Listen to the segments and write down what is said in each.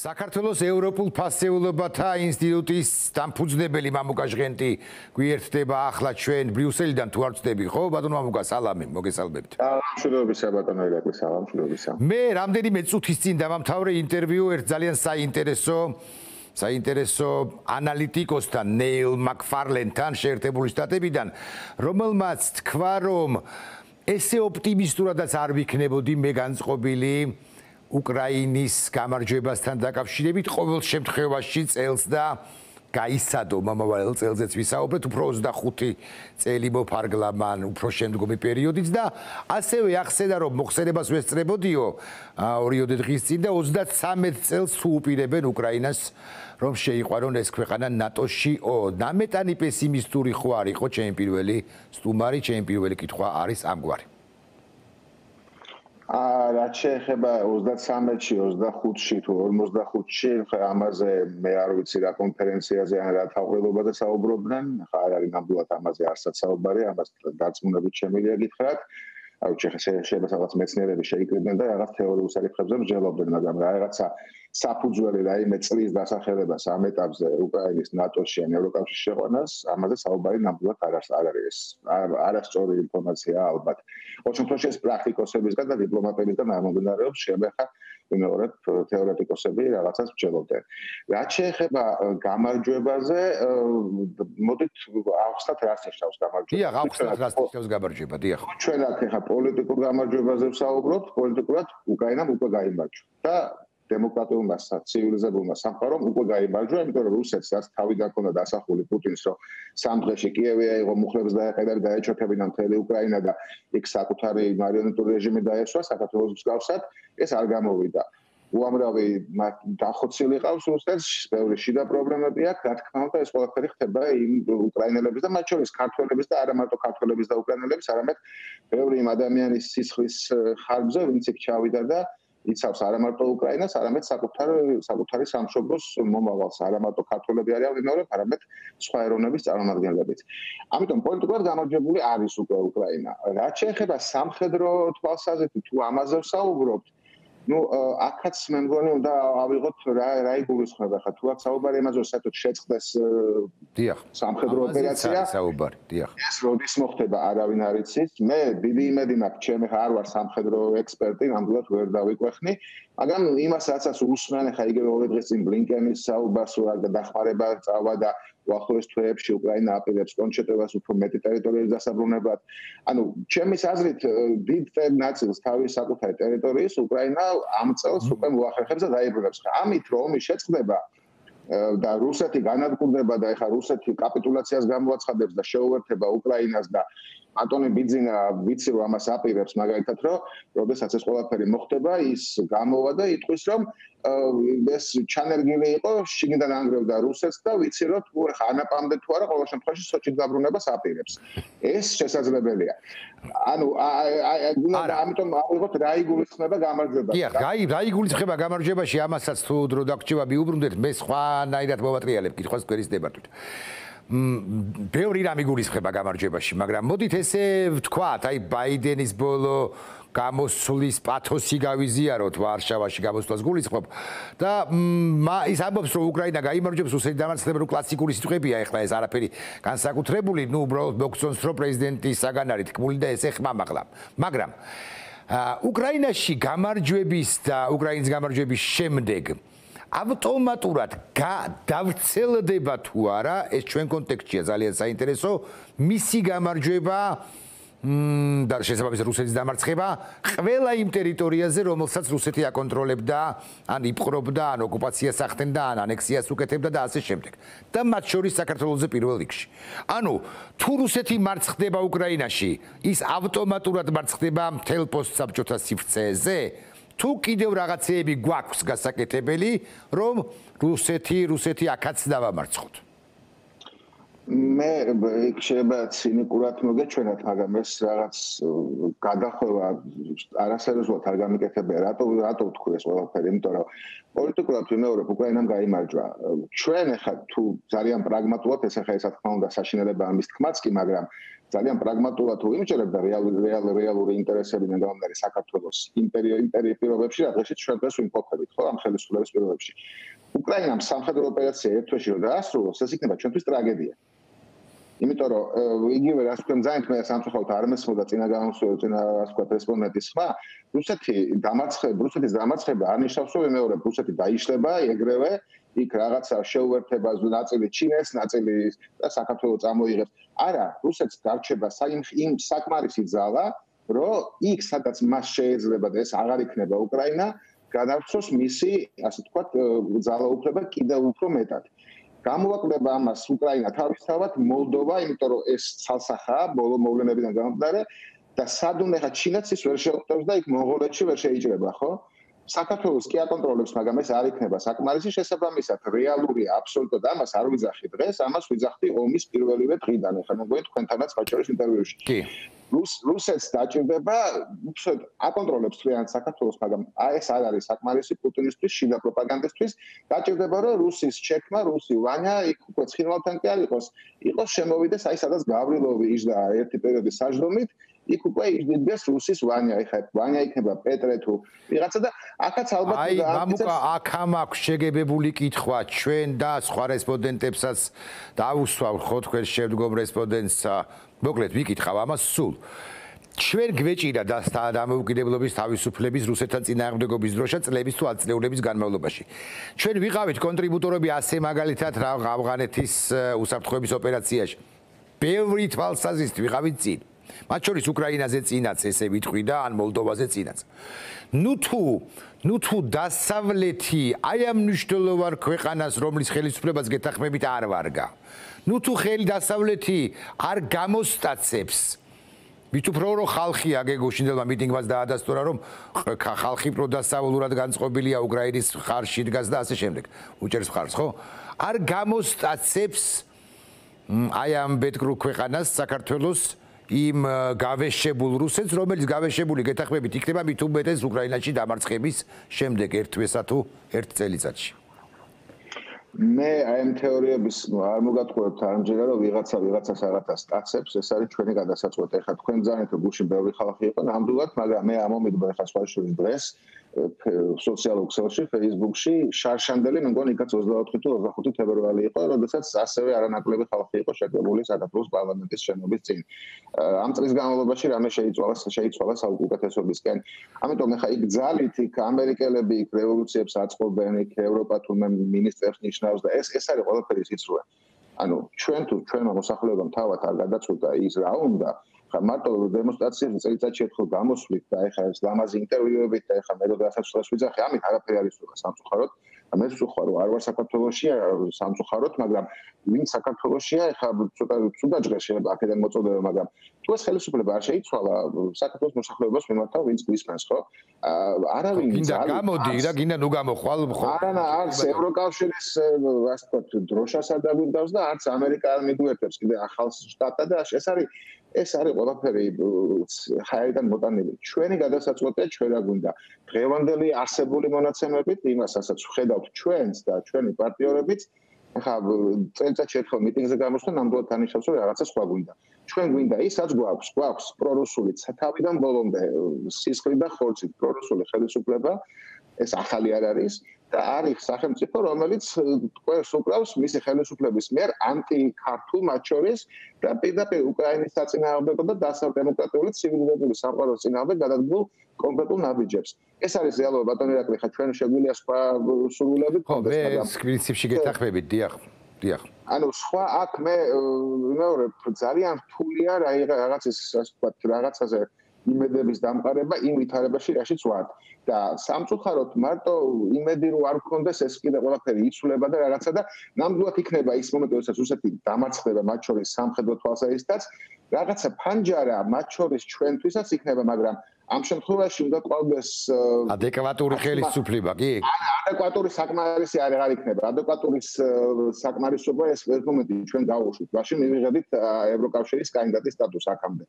საქართველოს ევროპულ ფასეულობათა ინსტიტუტის დამფუძნებელი მამუკა ჟღენტი გვიერთდება ახლა ჩვენ ბრიუსელიდან თუ არ ვწდები, ხო? ბატონო მამუკა, სალამი, მოგესალმებთ. მშვიდობისა ბატონო ირაკლი, სალამ, მშვიდობისა. მე რამდენიმე წუთის წინ დამამთავრე ინტერვიუ ერთ ძალიან საინტერესო ანალიტიკოსთან, ნეილ მაკფარლენთან შეერთებული შტატებიდან, რომელმაც თქვა, რომ ესე ოპტიმისტურადაც არ ვიქნებოდი მე განწყობილი უკრაინის გამარჯვებასთან დაკავშირებით, ყოველ შემთხვევაში წელს და გაისადო მომავალ წელზეც ვისაუბრეთ, უფრო 25 წელი მოფარგლა მან უფრო შემდგომი პერიოდიც და ასევე ახსენა, რომ მოხსენებას ვესწრებოდიო 2 დღის წინ და 33 წელს თუ უპირებენ უკრაინას, რომ შეიყვანონ ეს ქვეყანა ნატოში-ო. ნამეტანი პესიმისტური ხო არ იყო ჩემი პირველი სტუმარი, ჩემი პირველი კითხვა არის ამგვარი. რაც შეეხება 33-ში, 25-ში თუ 45-ში, ამაზე მე არ ვიცი რა კონფერენციაზე ან რა თავყელობაზე საუბრობდნენ, ხა არ არის ნამდვილად ამაზე არცაც საუბარი, ამას დარწმუნებით შემიძლია გითხრათ. შეიძლება რაღაც მეცნიერები შეიკრიბნენ და რაღაც თეორიულ საკითხებზე მსჯელობდნენ, მაგრამ რაღაცა საფუძველი რაიმე წლის დასახელებას ამ ეტაპზე უკრაინის ნატოში ან ევროკავშირში შეყვანას, ამაზე საუბარი ნამდვილად არ არის. არასწორი ინფორმაცია ალბათ. ყოველ შემთხვევაში ეს პრაქტიკოსებისგან და დიპლომატებისგან არ მომდინარეობს, შემეხა ვინაიდან თეორეტიკოსები რაღაცას მსჯელობდნენ. რაც შეეხება გამარჯვებაზე, მოდით ავხსნათ რას ნიშნავს გამარჯვება. დიახ, ავხსნათ რას ნიშნავს გამარჯვება, დიახ. ჩვენ აქ ახლა პოლიტიკურ გამარჯვებაზე ვსაუბრობთ, პოლიტიკურად უკრაინამ უკვე გაიმარჯვა და დემოკრატიულმა ცივილიზებულმა სამყარომ უკვე გაიმარჯვა, იმიტომ რომ რუსეთსაც თავიდან ჰქონდა დასახული პუტინს, რომ სამ დღეში კიევი აიღო, მუხლებს დაეყედა, დაეჩოქებინა მთელი უკრაინა და იქ საკუთარი მარიონეტული რეჟიმი დაესვა საქართველოს მსგავსად, ეს არ გამოვიდა. უამრავი დახოცილი ყავს რუსეთს, ბევრი შიდა პრობლემები აქვს, რა თქმა უნდა, ეს ყველაფერი ხდება იმ უკრაინელების და მათ შორის ქართველების და არა მარტო ქართველების და უკრაინელების, არამედ ბევრი იმ ადამიანის სისხლის ხარბზე, ვინც იქ ჩავიდა და იცავს არა მარტო უკრაინას, არამედ საკუთარი სამშობლოს მომავალს, არა მარტო ქართველები არიან ვინაიდან, არამედ სხვა ეროვნების წარმომადგენლებიც. ამიტომ პოლიტიკურად გამარჯვებული არის უკვე უკრაინა. რაც შეეხება სამხედრო თვალსაზრისით, თუ ამაზე ვსაუბრობთ, აქაც მე მგონი უნდა ავიღოთ რა იგულისხმება ხა თუ აქ საუბარი იმაზე რომ საერთოდ შეწყდეს სამხედრო ოპერაცია საუბარი დიახ ეს როდის მოხდება არავინ არ იცის მე დიდი იმედი მაქვს ჩემი ხა არ ვარ სამხედრო ექსპერტი ნამდვილად ვერ დავიკვეხნი მაგრამ იმას რასაც უსმენ ხა იგივე 2 დღის წინ ბლინკენის საუბარს რა დახმარება წავა და უახლოეს თვეებში უკრაინა აპირებს კონჩეტებას უფრო მეტი ტერიტორიის დასაბრუნებლად. ანუ ჩემის აზრით დიდ ნაწილს თავის საკუთარი ტერიტორიის უკრაინა ამ წელს უკვე მოახერხებს და დაიბრუნებს. ამით რომ ომი შეწყდება და რუსეთი განადგურდება და ეხა რუსეთი კაპიტულაციას გამოაცხადებს და შეუერთება უკრაინას და ანტონი ბიძინა ვიცი რომ ამას აპირებს მაგალითად რომ როდესაც ეს ყველაფერი მოხდება ის გამოვა და იტყვის რომ ეს ჩანერგილი იყო შიგნიდან ანგრევდა რუსეთს და ვიცი რომ თუ ხა ანაპამდე თუ არა ყოველ შემთხვევაში სოჭით გაბრუნებას აპირებს ეს შესაძლებელია ანუ ამიტომ ავიღოთ რა იგულისხმება გამარჯვებაში დიახ რა იგულისხმება გამარჯვებაში ამასაც თუ დრო დაგჭირება მიუბრუნდეთ მე სხვანაირად მოვატრიალებ კითხვას გვერის დებატვით ბევრი რამ იგულისხმება გამარჯვებაში, მაგრამ მოდით ესე ვთქვათ, აი ბაიდენის ბოლო გამოსვლის პათოსი გავიზიაროთ ვარშავაში გამოსვლას გულისხმობ და ის ამბობს რომ უკრაინა გაიმარჯვებს რუსეთი დამარცხდება რომ კლასიკური სიტყვებია ეხლა ეს არაფერი განსაკუთრებული, უბრალოდ მოგწონს რომ პრეზიდენტი საგანარი თქმული და ესე ხმამაღლა. მაგრამ უკრაინაში გამარჯვების და უკრაინის გამარჯვების შემდეგ ავტომატურად დავრცელდება თუ არა ეს ჩვენ კონტექსტშია ძალიან საინტერესო მისი გამარჯვება და შესაბამისად რუსეთის დამარცხება ყველა იმ ტერიტორიაზე რომელსაც რუსეთი აკონტროლებდა ან იპყრობდა ან ოკუპაციას ახდენდა ან ანექსიას უკეთებდა და ასე შემდეგ და მათ შორის საქართველოზე პირველ რიგში ანუ თუ რუსეთი მარცხდება უკრაინაში ის ავტომატურად მარცხდება მთელ პოსტსაბჭოთა სივრცეზე თუ კიდევ რაღაცეები გვაქვს გასაკეთებელი, რომ რუსეთი აქაც დავამარცხოთ. მე შეიძლება ცინიკურად მოგეჩვენათ, მაგრამ ეს რაღაც გადახვევა არასერიოზულად არ გამიკეთებია. რატო ვთქვი ეს ყველაფერი? იმიტომ რომ პოლიტიკურად ვიმეორებ, უკრაინამ გაიმარჯვა. ჩვენ ახლა თუ ძალიან პრაგმატულად, ეს ახლა რა თქმა უნდა საშინელებაა მის თქმაც კი, მაგრამ ძალიან პრაგმატულად თუ ვიმჯერებ და რეალური ინტერესები მეგონარი საქართველოს იმპერიის პირობებში, რა დღეში ჩვენ დღეს ვიმყოფებით, ხო, ამ ხელისუფლების პირობებში. უკრაინამ სამხედრო ოპერაცია ერთ თვეში რომ დაასრულოს, ეს იქნება ჩვენთვის ტრაგედია. იმიტომ რომ იგივე რაც თქვენ ძალიან მე სამწუხაროდ არ მესმოდა წინა ასე ვთქვათ რესპონდენტის ხმა, რუსეთის დამარცხება არ ნიშნავს რომ მეორე რუსეთი დაიშლება ეგრევე, იქ რაღაცა შეუერთება ნაწილი ჩინეთს, ნაწილი საქართველოს წამოიღებს. არა, რუსეთს გარჩება იმ საკმარისი ძალა, რომ იქ სადაც მას შეიძლება და ეს აღარ იქნება უკრაინა, გადავცოს მისი, ასე ვთქვათ, ძალაუფლება კიდევ უფრო მეტად. გამოვაკლდება ამას უკრაინა თავისთავად, მოლდოვა, იმიტომ რომ ეს ცალსახაა ბოლო მოვლენებიდან გამომდინარე და სადუნე ხა ჩინეთს ის ვერ შეხვდებს და იქ მონღოლეთში ვერ შეიჭრება, ხო? საქართველოს კი აკონტროლებს, მაგრამ ეს არ იქნება საკმარისი შესაბამისად. რეალურია აბსოლუტურად ამას არ ვიძახი დღეს, ამას ვიძახდი ომის პირველივე დღიდან. ხა მოგონით თქვენთანაც ხაჭარის ინტერვიუში. კი. რუსეთს დაჭირდება, უბრალოდ აკონტროლებს თლიანად საქართველოს, მაგრამ ეს არ არის საკმარისი პუტინისთვის, შიდა პროპაგანდისტვის. დაჭირდება, რომ რუსის ჩექმა, რუსი ვანია, იქ უკვე ცხინვალთან კი არ იყოს შემოვიდეს, აი სადაც გავრილოვი იჯდა ერთი პერიოდის საჯდომით, იქ უკვე იჯდეს რუსის ვანია, ეხლა ვანია იქნება პეტრე თუ ვიღაცა და აქაც ალბათ აი მამუკა აქ აქვს შეგებებული კითხვა ჩვენ და სხვა რესპონდენტებსაც დავუსვავ ხო თქვენ შემდგომ რესპონდენტსა მოკლედ ვიკითხავ ამას სულ ჩვენ გვეჭირა დამოუკიდებლობის თავისუფლების რუსეთთან წინააღმდეგობის დროშა წლების თუ ათწლეულების განმავლობაში ჩვენ ვიყავით კონტრიბუტორები ასე მაგალითად ავღანეთის უსაფრთხოების ოპერაციაში ბევრი თვალსაზრისით ვიყავით წინ მათ შორის უკრაინაზე წინაც ესე ვიტყვი და ან მოლდოვაზე წინაც. ნუ თუ დასავლეთი აი ამ მნიშვნელოვან ქვეყანას რომლის ხელისუფლებას გეთანხმებით არ ვარგა. ნუ თუ ხელი დასავლეთი არ გამოსტაცებს მით უფრო რომ ხალხი აგეგოშინდელმა მიტინგმაც დაადასტურა რომ ხალხი პროდასავლურად განწყობილია უკრაინის ხარში დგას და ასე შემდეგ. უჭერს ხარს ხო? არ გამოსტაცებს აი ამ ბედკრუ ქვეყანას საქართველოს იმ გავეშებულ რუსეთს, რომელიც გავეშებული გეთანხმებით იქნება მით უმეტეს უკრაინაში დამარცხების შემდეგ ერთ თვესა თუ ერთ წელიწადში. მე აი ამ თეორიების არ მოგატყუებთ არამჯერა რომ ვიღაცას რაღაცას სტაცებს, ეს არის ჩვენი გადასაწყვეტი. ეხლა თქვენ ძალიან თუ გულში ბევრი ხალხი იყო ნამდვილად, მაგრამ მე ამომიგდა ეხლა სხვა შორის დღეს სოციალურ ქსელში, Facebook-ში შარშანდელი, მე მგონი იქაც 24 თუ 25 თებერვალი იყო, როდესაც ასევე არანაკლები ხალხი იყო შეგებული საქართველოს პარლამენტის შენობის წინ. ამ წლის განმავლობაში რამე შეიცვალა საუკეთესობისკენ. ამიტომ ეხლა იქ ძალით იქ ამერიკელები იქ რევოლუციებს აწყობენ, იქ ევროპა თურმე მინისტრებს ნიშნავს და ეს არის ყველაფერი სიცრუე. ანუ ჩვენმა მოსახლეობამ თავად არ გადაწყვიტა ის რა უნდა მარტო დემონსტრაციებზე წელიწადში ერთხელ გამოსვლით და ეხლა ეს ლამაზი ინტერვიუებით და ეხლა მე როდესაც სულას ვიძახი, ამით არაფერი არ იცოდა სამწუხაროდ. მე ვსუხარ რომ არ ვარ საქართველოსია სამწუხაროდ, მაგრამ ვინ საქართველოსია, ეხლა ცოტა ცუდაჯღე შეიძლება აქედან მოწოდება, მაგრამ თუ ეს ხელისუფლება არ შეიცვალა, საქართველოს მოსახლეობას მიმართა ვინც გვისმენს, ხო? არავინ გინდა გამოდი და გინდა ნუ გამოხვალ ხო? არა, არც ევროკავშირის ასე ვთქვათ დროშას არ დაგვიდავს და არც ამერიკა არ მიგვიერთებს კიდე ახალ შტატად და ეს არის ყველაფერი ხაერიდან მოტანილი. ჩვენი გადასაწყვეტია ჩვენ რა გვინდა. დღევანდელი არსებული მონაცემებით იმასაც ვხედავთ ჩვენს და ჩვენი პარტნიორებიც, ახლა წელიწადში ერთხელ მიტინგზე გამოსვლა ნამდვილად ანიშნავს რომ რაღაცა სხვა გვინდა. ჩვენ გვინდა ისაც გვაქვს პრორუსული თავიდან ბოლომდე სისხლით და ხორცით პრორუსული ხელისუფლება, ეს ახალი არ არის. და არის სახელმწიფო, რომელიც ყველს უკრავს მისი ხელისუფლების მიერ ანტიქართულ მათ შორის და პირდაპირ უკრაინის საწინააღმდეგო და დასავლდემოკრატიული ცივილიზებული სამყაროს წინააღმდეგ გადადგმულ კონკრეტულ ნაბიჯებს. ეს არის რეალობა ბატონო ირაკლი, ხა ჩვენ შეგვიძლია სხვა სურვილები გქონდეს, მაგრამ პრინციპში გეთანხმებით, დიახ. ანუ სხვა აქ მე მეორე ძალიან რთულია რაღაცის ასე ვთქვათ რაღაცაზე იმედების დამყარება იმ ვითარებაში რაშიც ვართ და სამწუხაროდ მარტო იმედი რო არ გქონდეს ეს კიდე ყველაფერი იცვლება და რაღაცა და ნამდვილად იქნება ის მომენტი როდესაც რუსეთი დამარცხდება მათ შორის სამხედრო თვალსაზრისითაც რაღაცა ფანჯარა მათ შორის ჩვენთვისაც იქნება, მაგრამ ამ შემთხვევაში უნდა ყავდეს ადეკვატური ხელისუფლება, კი? ადეკვატური საკმარისი არ იქნება. ადეკვატური საკმარისობა ეს მომენტი ჩვენ გავუშვით. მაშინ მივიღებთ ევროკავშირის კანდიდატის სტატუსს აქამდე.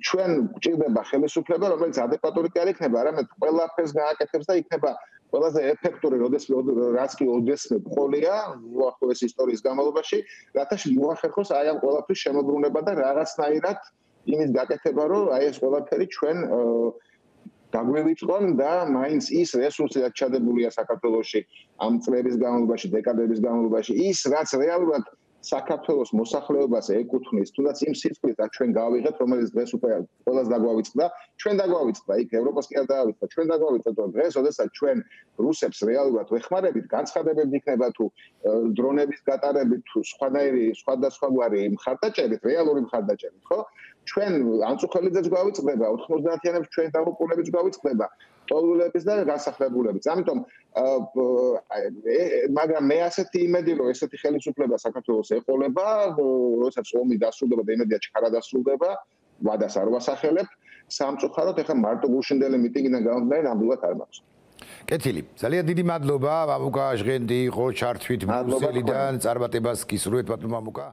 ჩვენ გვჭირდება ხელისუფლება, რომელიც ადეკვატური კი არ იქნება, არამედ ყველაფერს გააკეთებს და იქნება ყველაზე ეფექტური, რაც კი ოდესმე ყოლია უახლოეს ისტორიის განმავლობაში, რათა მოახერხოს აი ამ ყველაფრის შემოbrunება და რაღაცნაირად იმის გაკეთება, რომ აი ეს ყველაფერი ჩვენ გაგვივიწყონ და მაინც ის რესურსი, რაც ჩადებულია საქართველოში ამ წლების განმავლობაში, დეკადების განმავლობაში, ის რაც რეალურად საქართველოს მოსახლეობას ეკუთვნის, თუნდაც იმ სიტყვით, რაც ჩვენ გავიღეთ, რომელიც დღეს უკვე ყველას დაგვავიწყდა, ჩვენ დაგვავიწყდა, იქ ევროპას კი არ დაავიწყდა, ჩვენ დაგვავიწყდა, რომ დღეს, როდესაც ჩვენ რუსებს რეალურად ვეხმარებით, განცხადებები იქნება თუ დრონების გატარებით, თუ სხვადასხვაგვარი მხარდაჭერით, რეალური მხარდაჭერით, ხო? ჩვენ ანწუხელიძეც გვავიწყდება, 90-იანებს ჩვენ დაღუპულებიც გვავიწყდება, ტოლულების და განსახლებულებით. ამიტომ მაგრამ მე ასეთი იმედი რომ ესეთი ხელისუფლება საქართველოს ეყოლება, როდესაც ომი დასრულდება და იმედია ჩქარა დასრულდება, ვადას არ ვასახელებ, სამწუხაროდ ეხლა მარტო გუშინდელი მიტინგიდან გამომდინარე ნამდვილად არ მაქვს. კეთილი. ძალიან დიდი მადლობა, მამუკა ჟღენდი იყო ჩართვით ბრიუსელიდან, წარმატებას გისურვებთ ბატონო მამუკა.